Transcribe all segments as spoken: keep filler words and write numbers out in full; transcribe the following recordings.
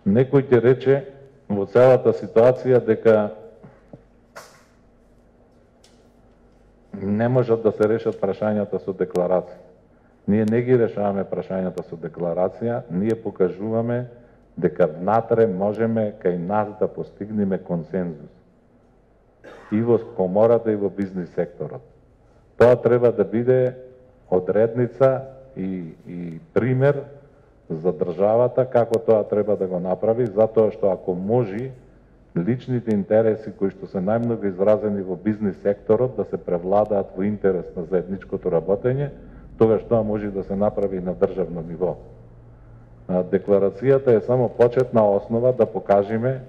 Некој ќе рече во целата ситуација дека не можат да се решат прашањата со декларација. Ние не ги решаваме прашањата со декларација, ние покажуваме дека внатре можеме кај нас да постигнеме консензус. И во комората и во бизнис секторот. Тоа треба да биде одредница и, и пример за државата како тоа треба да го направи, затоа што ако може личните интереси кои што се најмногу изразени во бизнис секторот да се превладаат во интерес на заедничкото работење, тогаш тоа може да се направи на државно ниво. Декларацијата е само почетна основа да покажеме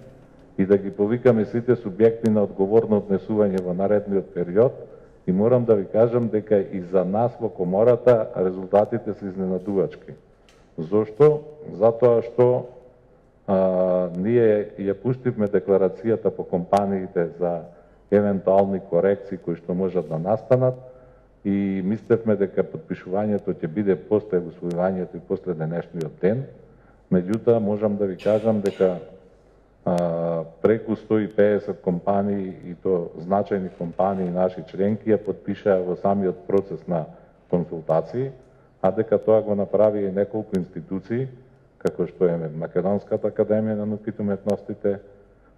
и да ги повикаме сите субјекти на одговорно однесување во наредниот период и морам да ви кажам дека и за нас во комората резултатите се изненадувачки. Зошто? Затоа што а, ние ја пуштивме декларацијата по компаниите за евентуални корекции кои што можат да настанат и мислевме дека подпишувањето ќе биде после усвојувањето и после денешниот ден. Меѓутоа, можам да ви кажам дека а, преку сто и педесет компании и то значајни компании наши членки ја подпишаа во самиот процес на консултации, а дека тоа го направи и неколку институции, како што е Македонската академија на науките и уметностите,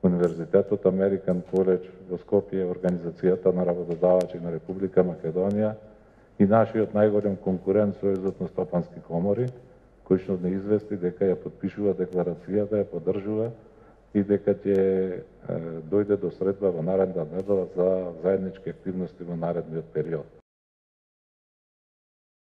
Универзитетот Американ Коледж во Скопје, Организацијата на работодавачи на Република Македонија и нашиот најголем конкурент Сојузот на стопански комори, кој што не извести дека ја подпишува декларацијата, ја поддржува и дека ќе дојде до средба во наредна недела за заеднички активности во наредниот период.